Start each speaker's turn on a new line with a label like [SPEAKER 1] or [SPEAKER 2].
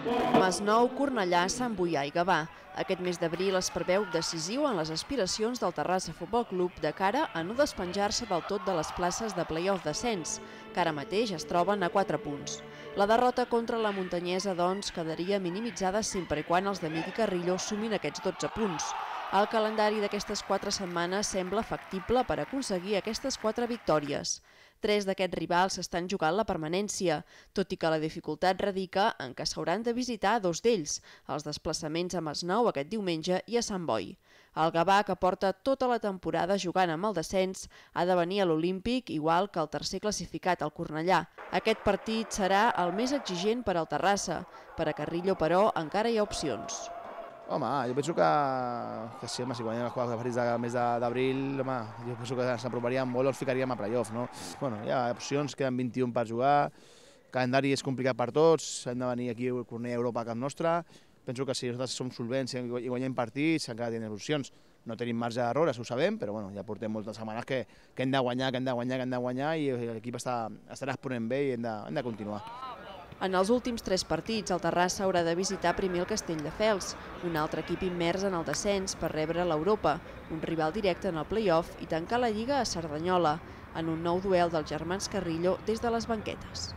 [SPEAKER 1] Masnou, Cornellà, Sant Boià i Gavà. Aquest mes d'abril es preveu decisiu en les aspiracions del Terrassa Futbol Club de cara a no despenjar-se del tot de les places de play-off d'ascens, que ara mateix es troben a 4 punts. La derrota contra la muntanyesa, doncs, quedaria minimitzada sempre i quan els d'Amic i Carrillo sumin aquests 12 punts. El calendari d'aquestes 4 setmanes sembla factible per aconseguir aquestes 4 victòries. 3 d'aquests rivals s'estan jugant la permanència, tot i que la dificultat radica en què s'hauran de visitar 2 d'ells, els desplaçaments a Masnou aquest diumenge i a Sant Boi. El Gavà, que porta tota la temporada jugant amb el descens, ha de venir a l'Olímpic igual que el tercer classificat, el Cornellà. Aquest partit serà el més exigent per al Terrassa. Per a Carrillo, però, encara hi ha opcions.
[SPEAKER 2] Home, jo penso que sí, si guanyem els 4 partits del mes d'abril, jo penso que ens aproparíem molt o ens ficaríem a playoff, no? Bueno, hi ha opcions, queden 21 per jugar, el calendari és complicat per tots, hem de venir aquí a Cornellà, Europa, a cap nostre. Penso que si nosaltres som solvents i guanyem partits, encara tenim opcions. No tenim marge d'error, ho sabem, però bueno, ja portem moltes setmanes que hem de guanyar, i l'equip estarà exponent bé i hem de continuar.
[SPEAKER 1] En els últims 3 partits, el Terrassa haurà de visitar primer el Castelldefels, un altre equip immers en el descens per rebre l'Europa, un rival directe en el play-off i tancar la Lliga a Cerdanyola, en un nou duel dels germans Carrillo des de les banquetes.